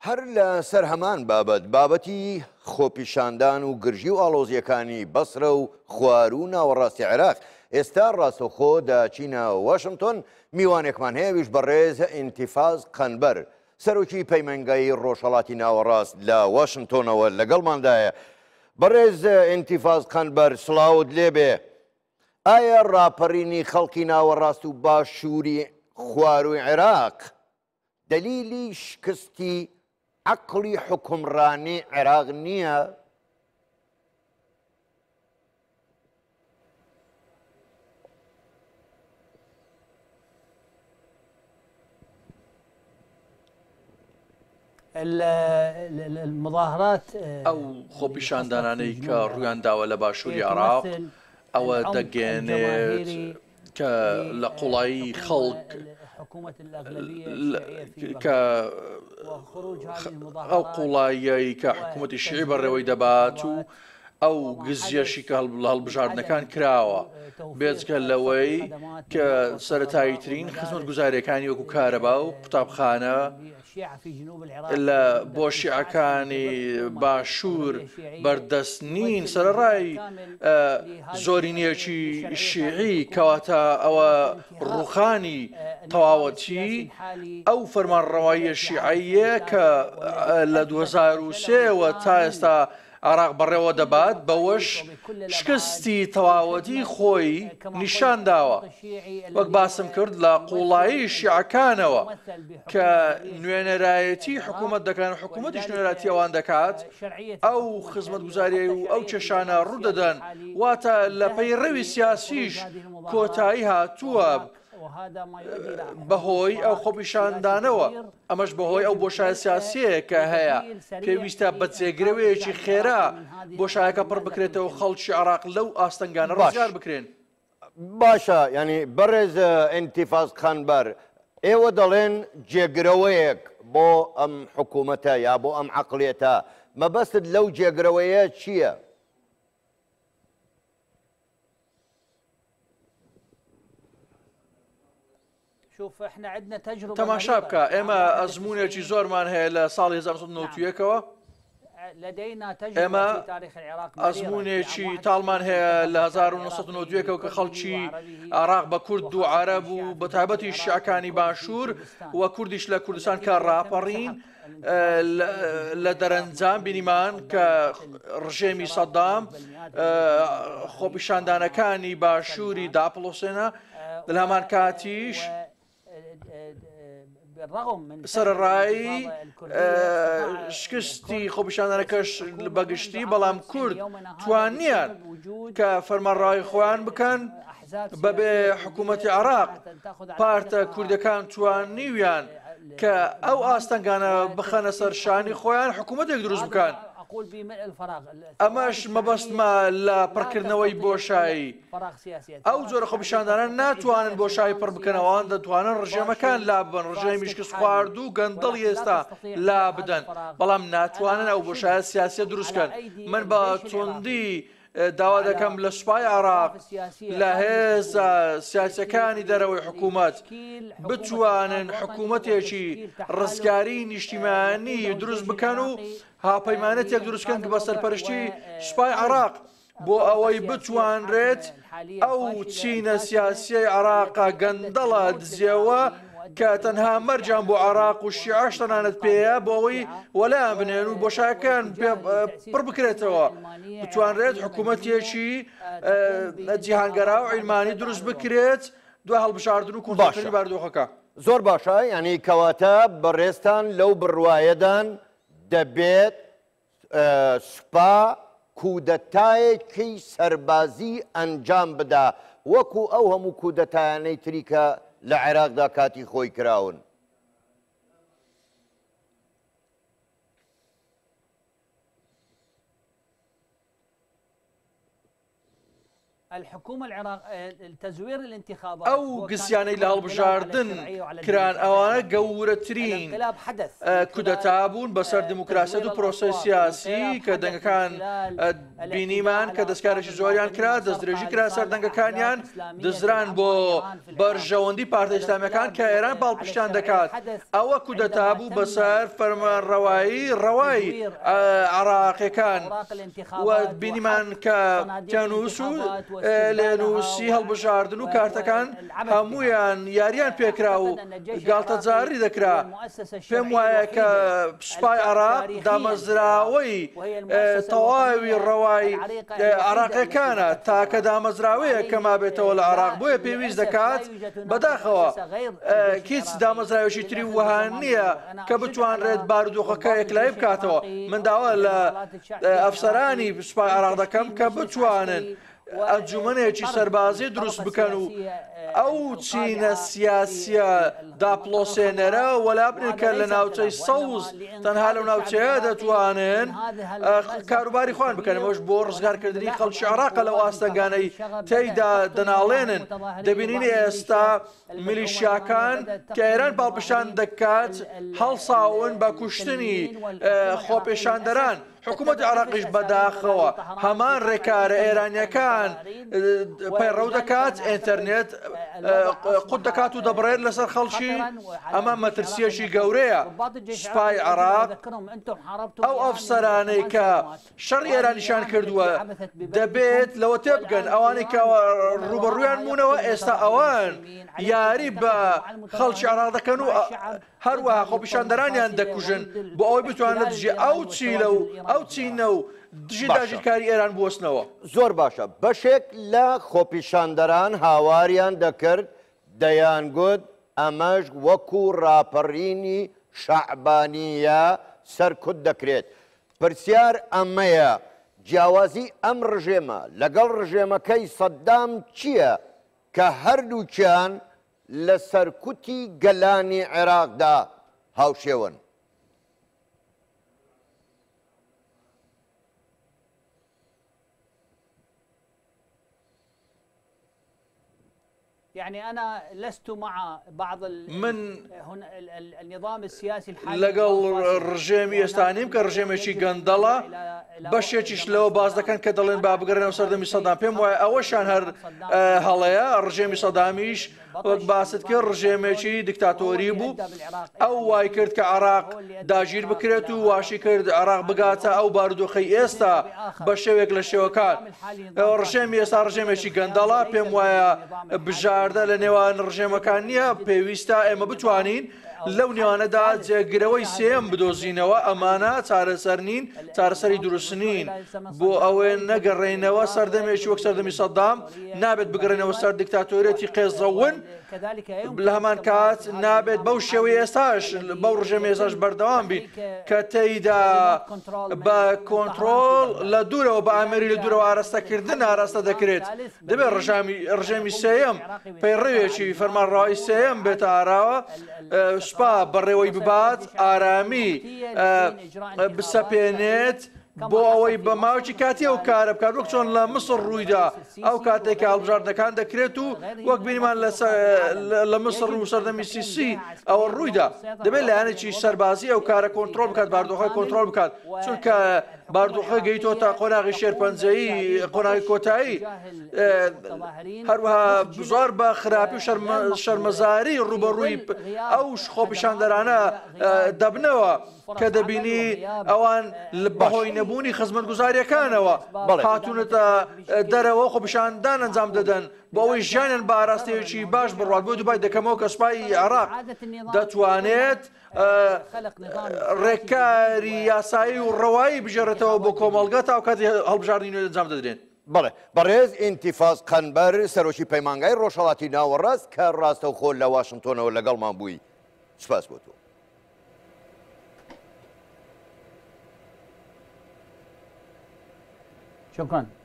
هەر لە سەر هەمان بابەت، بابەتی خۆپیشاندان و گرژی و ئاڵۆزییەکانی بەسرە و خواروو و ناوەڕاستی عێراق، ئێستا ڕاستەوخۆ دەچینە واشنتۆن، میوانێکمان هەیە ئەویش بەڕێز ئینتیفاز قەنبەر، سەرۆکی پەیمانگای ڕۆژهەڵاتی ناوەڕاست لە واشنتۆنەوە لەگەڵماندایە. بەڕێز ئینتیفاز قەنبەر سڵاوت لێبێ، ئایا ڕاپەڕینی خەڵکی ناوەڕاست و باشووری خوارووی عێراق دەلیلی شکستی عەقڵی حوکمڕانی عێراق نییە؟ ئەو خۆپیشاندانانەی کە ڕوویان داوە لە باشووری عێراق ئەوە دەگەیەنێت کە لە قوڵایی خەڵک کە ئەو قوڵاییەی کە حکوومەتی شیعی بەڕێوەی دەبات و ئەو گزیەشی کە لە هەڵبژاردنەکان کراوە بێجگە لەوەی کە سەتاییترین خزمەتگوزاریەکانی وەکو کارەبا و قوتابخانە لە بۆ شیعەکانی باشوور بەردەست نین سەرەڕای زۆرینەیەکی شیعی کەواتە ئەوە ڕوخانی تەواوەتی ئەو فەرمانڕەواییە شیعەیە کە لە 2003ەوە تا ئێستا عێراق بەڕێوە دەبات، بەوەش شکستی تەواوەتی خۆی نیشان داوە، وەک باسم کرد لە قوڵایی شیعەکانەوە کە نوێنەرایەتی حکوومەت دەکەن و حکوومەتیش نوێنەرایەتی ئەوان دەکات، ئەو خزمەتگوزاریی و ئەو کێشانە ڕوودەدەن، واتە لە پەیڕەوی سیاسیش کۆتایی هاتووە. بەهۆی ئەو خۆپیشاندانەوە، ئەمەش بەهۆی ئەو بۆشایە سیاسیەیە کە هەیە، پێویستە بە جێگرەوەیەکی خێرا بۆشایەکە پڕ بکرێتەوە خەڵکی عێراق لەو ئاستەنگانە ڕزگار بکرێن. باشە یانی بەڕێز ئینتیفاز قەنبەر ئێوە دەڵێن جێگرەوەیەک بۆ ئەم حکوومەتە یا بۆ ئەم عەقڵیەتە مەبەستت لەو جێگرەوەیە چییە؟ تەماشا بکە ئێمە ئەزموونێکی زۆرمان هەیە لە ساڵی 1991ەوە ئێمە ئەزموونێکی تاڵمان هەیە لە 1991ەوە کە خەڵکی عراق بە کورد و عرب و بە تایبەتی شیعەکانی باشوور و کوردیش لە کوردستان کە ڕاپەڕین لە دەرەنجام بینیمان کە ڕژێمی سەدام خۆپیشاندانەکانی باشووری داپڵۆسێنە لە هەمان کاتیش سەرەڕای شکستی خۆپیشاندانەکەش بەگشتی بەڵام کورد توانیان کە فەرمانڕای خۆیان بکەن بەبێ حکوومەتی عراق پارتە کوردەکان توانیویان کە ئەو ئاستەنگانە بخەنە سەر شانی خۆیان حکوومەتێک دروست بکەن. ئەمەش مەبەستمە لە پڕکردنەوەی بۆشایی. ئەو جۆرە خۆپیشاندانە ناتوانن بۆشایی پڕ بکەنەوە، ئەوان دەتوانن ڕژێمەکان لاببەن، ڕژێمی شکستخواردوو و گەندەڵی ئێستا لابدەن، بەڵام ناتوانن ئەو بۆشایە سیاسیە دروست بکەن. من بە توندی داوا دەکەم لە سوپای عێراق، لە هێزە سیاسیەکانی دەرەوەی حکوومەت بتوانن حکوومەتێکی ڕزگاری نیشتیمانی دروست بکەن و هاوپەیمانەتێک دروست بکەن کە بە سەرپەرشتی سوپای عێراق بۆ ئەوەی بتوانرێت ئەو چینە سیاسیەی عێراقە گەندەڵە دزێوە کە تەنها مەرجیان بۆ عێراق و شیعەش تەنانەت پێیە بۆ ئەوەی وەلایان بنێن و بۆشایەکەیان پێ پڕ بکرێتەوە بتوانرێت حکوومەتێکی جیهانگەرا و عیلمانی دروست بکرێت دوای هەڵبژاردن و کۆنترۆڵکردنی بارودۆخەکە. زۆر باشە یانی کەواتە بەڕێزتان لەو بڕوایەدان دەبێت سوپا کودەتایەکی سەربازی ئەنجام بدا وەکو ئەو هەموو کودەتایانەی تری کە لە عێراقدا کاتی خۆی کراون. ئەو گزیانەی لە هەڵبژاردن کران ئەوانە گەورەترین کودەتا بوون بەسەر دیموکراسیەت و پرۆسەی سیاسی کە دەنگەکان بینیمان کە دەستکارێکی زۆریان کرا دەستدرێژی کرا سەر دەنگەکانیان دزران بۆ بەرژەوەندی پارتە ئیسلامیەکان کە ئێران پاڵپشتیان دەکات ئەوە کودەتا بوو بەسەر فەرمانڕەوایی ڕەوای عراقیەکان و بینیمان کە تێنووس و لێنووسی هەڵبژاردن و کارتەکان هەمویان یاریان پێکرا و گاڵتەجاری دەکرا پێم وایە کە سوپای عراق دامەزراوەی تەواوی ڕەوای عراقیەکانە تاکە دامەزراوەیە کە مابێتەوە لە عراق بۆیە پێویست دەکات بەداخەوە هیچ دامەزراوێکی تری وەها نییە کە بتوانرێت بارودۆخەکە یەکلایی بکاتەوە من داوا لە ئەفسەرانی سوپای عراق دەکەم کە بتوانن ئەنجومەنێکی سەربازی دروست بکەن و ئەو چینە سیاسیە داپڵۆسێنەرە وەلا بنێن کە لە ناوچەی سەوز تەنها لەو ناوچەیە دەتوانن کاروباری خۆیان بکەن ئەوەش بۆ ڕزگارکردنی خەڵکی عێراقە لەو ئاستەنگانەی تێیدا دەناڵێنن دەبینین ئێستا میلیشیاکان کە ئێران پاڵپشتان دەکات هەڵساون بە کوشتنی خۆپێشاندەران حکوومەتی عێراقیش بەداخەوە هەمان ڕێکارە ئێرانیەکان پەیڕەو دەکات ئینتەرنێت قوت دەکات و دەبڕێت لەسەر خەڵکی ئەمە مەترسیەکی گەورەیە سوپای عێراق ئەو ئەفسەرانەی کە شەڕی ئێرانیشان کردووە دەبێت لەوە تێبگەن ئەوانەی کە ڕوبەڕویان بوونەوە ئێستا ئەوان یاری بە خەڵکی عێراق دەکەن و هەروەها خۆپیشاندەرانیان دەکوژن بۆ ئەوەی بتوانن لە دژی ئەو چیلە و ئەو چینە و دژی داگیرکاری ئێران بوەستنەوە. زۆر باشە بەشێک لە خۆپیشاندەران هاواریان دەکرد دەیانگوت ئەمەش وەکو ڕاپەڕینی شەعبانییە سەرکوت دەکرێت. پرسیار ئەمەیە جیاوازی ئەم ڕژێمە لەگەڵ ڕژێمەکەی سەدام چییە کە هەردووکیان لە سەرکوتی گەلانی عێراقدا هاوشێوەن. من لەگەڵ ڕژێمی ئێستا نیم کە ڕژێمێکی گەندەڵە بەشێکیش لەوە باس دەکەن کە دەڵێن با بگەڕێنەوە سەردەمی سەدام پێم وایە ئەوەشان هەر هەڵەیە ڕژێمی سەدامیش وەک باست کرد ڕژێمێکی دیکتاتۆری بوو ئەو وای کرد کە عراق داگیر بکرێت و واشی کرد عراق بگاتە ئەو بارودۆخەی ئێستا بە شێوێک لە شێوەکان ڕژێمی ئێستا ڕژێمێکی گەندەڵە پێم وایە بژاردە لە نێوان ڕژێمەکان نییە پێویستە ئێمە بتوانین لەو نێوانەدا جێگرەوەی سێیەم بدۆزینەوە، ئەمانە چارەسەر نین، چارەسەری دروست نین، بۆ ئەوەی نەگەڕێینەوە سەردەمێکی وەک سەردەمی سەدام، نابێت بگەڕێینەوە سەر دیکتاتۆریەتی قێزەون، لە هەمان کات نابێت بەو شێوەی ئێستاش بەو ڕژێمی ئێستاش بەردەوام بین کە تێیدا بە کۆنتڕۆڵ لە دوورەوە بە ئامێری لە دوورەوە ئاراستەکردن ئاراستە دەکرێت. دەبێت ڕژێمی سێیەم پەیڕەوێکی فەرمانڕەوای سێیەم بێتە ئاراوە، سوپا بەڕێوەی ببات، ئارامی بسەپێنێت بۆ ئەوەی بە ماوەیەکی کاتی ئەو کارە بکات وەک چۆن لە میسڕ ڕوویدا ئەو کاتێک کە هەڵبژاردنەکان دەکرێت و وەک بینیمان لە میسڕ و سەردەمی سیسی ئەوە ڕوویدا دەبێت لایەنێکی سەربازی ئەو کارە کۆنترۆڵ بکات باردۆخە کۆنترۆڵ بکات چونکە باردوخە گەیتۆتە قۆناغی شێرپەنجەیی قۆناغی کۆتایی هەروەها زۆر بە خراپی و شەرمەزاری ڕوبەڕووی ئەو خۆپیشاندەرانە دەبنەوە کە دەبینی ئەوان بەهۆی نەبوونی خزمەتگوزاریەکانەوە هاتوونەتە دەرەوە خۆپیشاندان ئەنجام دەدەن بۆ ئەوەی ژیانیان بە ئاراستەیەکی باش بڕوات بۆ دووبای دەکەمەوە کە سوپای عێراق دەتوانێت ڕێکاری یاسایی و ڕەوایی بگێڕێتەوە بۆ کۆمەڵگە تا کاتی هەڵبژاردنی نوێ ئەنجام دەدرێن. بەڵێ بەڕێز ئینتیفاز قەنبەر سەرۆکی پەیمانگای ڕۆژهەڵاتی ناوەڕاست کە ڕاستەوخۆ لە واشنتۆنەوە لەگەڵمان بووی سوپاس بۆ تۆ. شكرا.